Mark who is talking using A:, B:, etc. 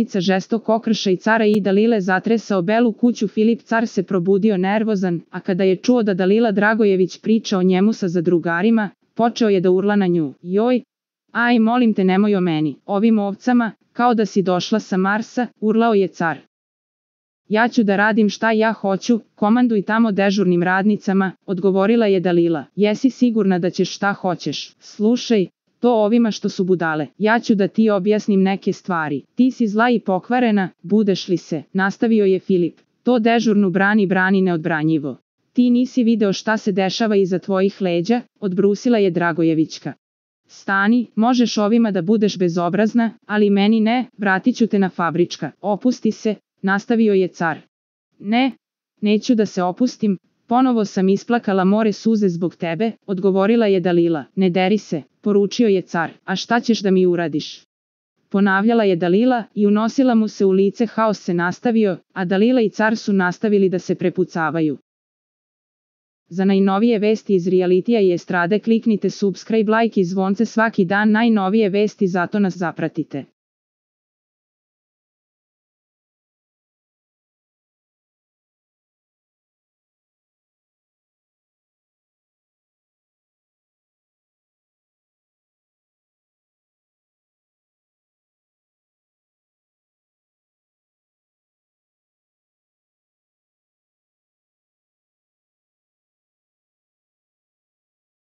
A: žestok okrša i cara i Dalile zatresao belu kuću. Filip car se probudio nervozan, a kada je čuo da Dalila Dragojević priča o njemu sa zadrugarima, počeo je da urla na nju. Joj, aj molim te nemoj o meni, ovim ovcama, kao da si došla sa Marsa, urlao je car. Ja ću da radim šta ja hoću, komanduj tamo dežurnim radnicama, odgovorila je Dalila. Jesi sigurna da ćeš šta hoćeš? Slušaj, to ovima što su budale. Ja ću da ti objasnim neke stvari. Ti si zla i pokvarena, budeš li se, nastavio je Filip. To dežurnu brani neodbranjivo. Ti nisi video šta se dešava iza tvojih leđa, odbrusila je Dragojevićka. Stani, možeš ovima da budeš bezobrazna, ali meni ne, vratit ću te na fabrička. Opusti se, nastavio je car. Ne, neću da se opustim, ponovo sam isplakala more suze zbog tebe, odgovorila je Dalila. Ne deri se, poručio je car, a šta ćeš da mi uradiš? Ponavljala je Dalila i unosila mu se u lice. Haos se nastavio, a Dalila i car su nastavili da se prepucavaju. Za najnovije vesti iz realitija i estrade kliknite subscribe, like i zvonce svaki dan. Najnovije vesti, zato nas zapratite.